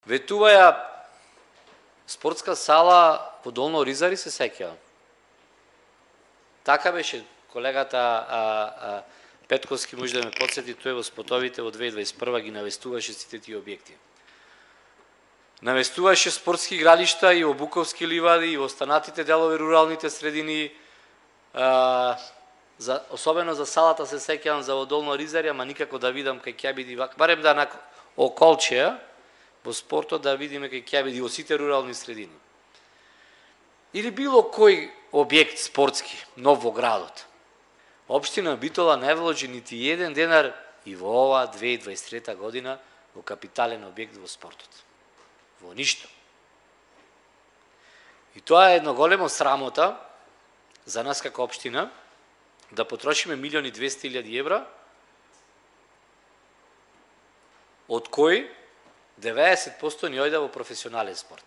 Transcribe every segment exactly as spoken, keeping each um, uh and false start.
Ветуваја спортска сала во Долно Оризари, се сеќавам. Така беше колегата а, а, Петковски, може да ме подсети, тој во спотовите во две илјади дваесет и прва ги навестуваше сите тие објекти. Навестуваше спортски игралишта и во Буковски ливади, и во останатите делови руралните средини, а, за, особено за салата се сеќавам за во Долно Оризари, ама никако да видам кај ќе биде, барем да на околчеја, во спортот да видиме кај ќе биде во сите рурални средини. Или било кој објект спортски, нов во градот. Општина Битола не вложи нити еден денар и во ова две илјади дваесет и трета година во капитален објект во спортот. Во ништо. И тоа е едно големо срамота за нас како општина, да потрошиме милиони и двесте илјади евра, од кои деветдесет проценти ни ојде во професионален спорт.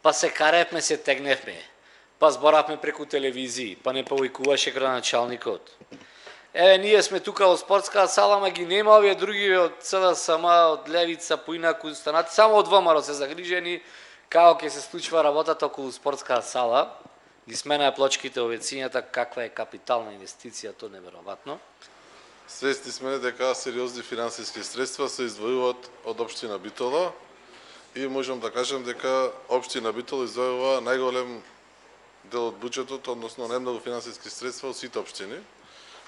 Па се каревме, се тегневме, па зборавме преку телевизии, па не повикуваше градоначалникот. Еве, ние сме тука во спортска сала, ма ги нема овие други од ЦДСМ, од Левица, поинаку останати, само од ВМРО се загрижени како ќе се случува работата околу спортска сала. Ги сменаа плочките овецињата, каква е капитална инвестиција, тоа неверојатно. Свесни сме дека сериозни финансиски средства се издвојуваат од општина Битола и можам да кажам дека општина Битола издвојува најголем дел од буџетот, односно најмногу финансиски средства од сите општини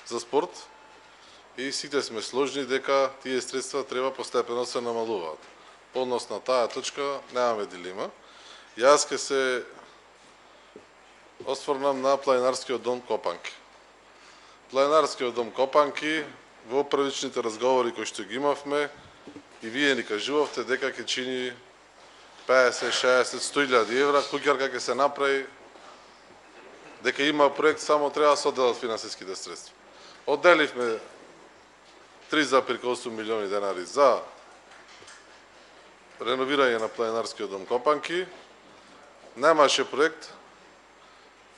за спорт и сите сме сложни дека тие средства треба постепено се намалуваат. По однос на таа точка немаме дилема. Јас ке се осврнам на Планинарскиот дом Копанки. Планинарскиот дом Копанки, во првичните разговори кои што ги имавме, и вие ни кажувавте дека ќе чини песет, шеесет, сто илјади евра, куќарка ќе се направи, дека има проект, само треба да се одделат финансиските средства. Одделивме три зарез и осум милиони денари за реновирање на Планинарскиот дом Копанки. Немаше проект.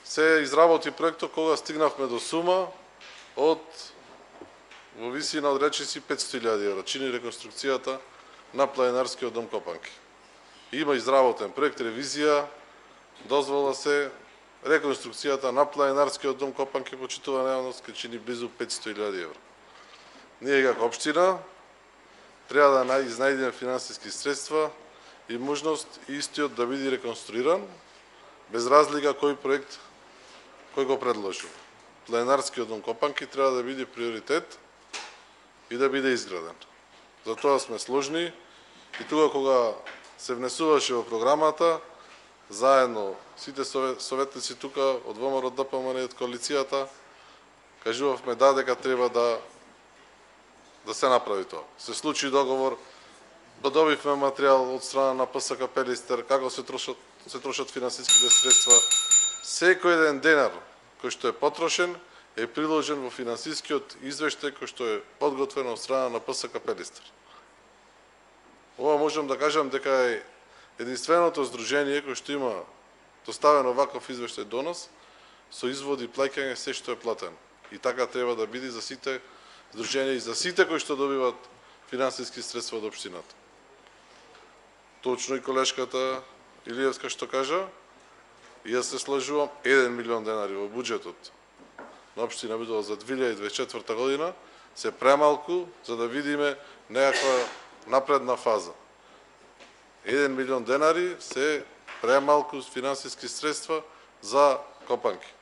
Се изработи проектот кога стигнавме до сума од во висина од речиси петсто илјади евра. Чини реконструкцијата на Планинарскиот дом Копанки. Има изработен проект, ревизија, дозвола се реконструкцијата на Планинарскиот дом Копанки, почитувана јавност, ке чини близу петсто илјади евра. Ние како општина треба да изнајдеме финансиски средства и можност истиот да биде реконструиран, без разлика кој проект кој го предложил. Планинарскиот дом Копанки треба да биде приоритет и да биде изграден. Затоа сме сложни и тука кога се внесуваше во програмата, заедно сите советници тука од ВМРО, ДПМН и од коалицијата, кажувавме да дека треба да да се направи тоа. Се случи договор, добивме материјал од страна на ПСК Пелистер, како се трошат се трошат финансиските средства. Секој еден денар кој што е потрошен е приложен во финансискиот извештај кој што е подготвен од страна на ПСК Пелистер. Ова можам да кажам дека е единственото здружение кој што има доставено ваков извештај до нас, со изводи плаќање се што е платено. И така треба да биде за сите здруженија и за сите кои што добиваат финансиски средства од општината. Точно и колешката Илиевска што кажа, и јас се слажувам, еден милион денари во буџетот на општина Битола за две илјади дваесет и четврта година се премалку за да видиме некаква напредна фаза. еден милион денари се премалку финансиски средства за Копанки.